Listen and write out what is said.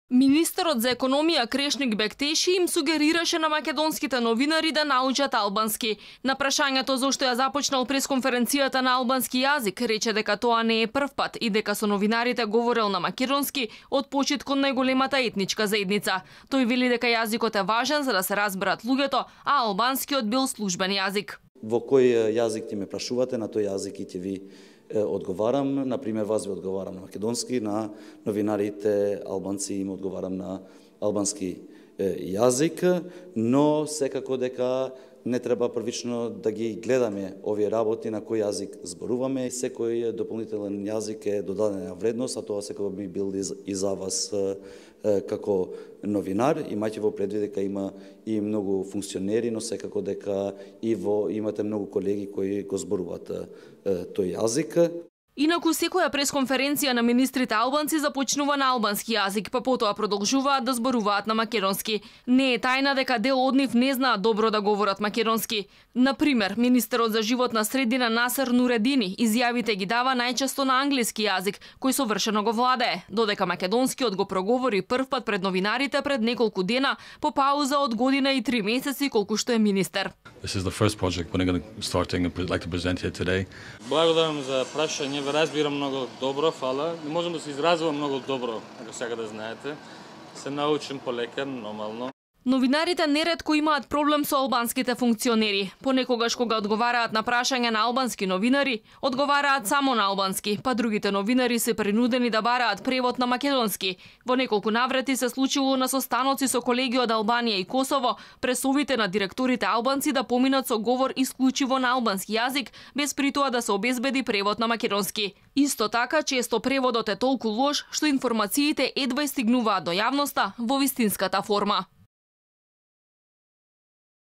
Министерот за економија Крешник Бектеши им сугерираше на македонските новинари да научат албански. На прашањето зошто ја започнал пресконференцијата на албански јазик, рече дека тоа не е прв пат и дека со новинарите говорел на македонски од почит кон најголемата етничка заедница. Тој вели дека јазикот е важен за да се разберат луѓето, а албанскиот бил службен јазик. Во кој јазик ти ме прашувате, на тој јазик и ќе ви одговарам. Например, вас ви одговарам на македонски, на новинарите албанци им одговарам на албански јазик, но секако дека не треба првично да ги гледаме овие работи на кој јазик зборуваме. Секој дополнителен јазик е додадена вредност, а тоа секако би бил и за вас како новинар. Имајте во предвид дека има и многу функционери, но секако дека имате многу колеги кои го зборуваат тој јазик. Инаку секоја пресконференција на министрите албанци започнува на албански јазик, па потоа продолжуваат да зборуваат на македонски. Не е тајна дека дел од нив не знаат добро да говорат македонски. Например, министерот за животна средина Насер Нуредини изјавите ги дава најчесто на англиски јазик, кој совршено го владее, додека македонскиот го проговори првпат пред новинарите пред неколку дена по пауза од година и 3 месеци колку што е министер. This is the first project we're going to starting and like to present here today. Благодарам за прашање, ве разбирам многу добро, фала. Не можам да се изразувам многу добро, ако сега да знаете. Се научим полека, нормално. Новинарите неретко имаат проблем со албанските функционери. Понекогаш кога одговараат на прашања на албански новинари, одговараат само на албански, па другите новинари се принудени да бараат превод на македонски. Во неколку наврати се случило на состаноци со колеги од Албанија и Косово, пресовите на директорите албанци да поминат со говор исклучиво на албански јазик, без при тоа да се обезбеди превод на македонски. Исто така, често преводот е толку лош што информациите едва стигнуваат до јавноста во вистинската форма.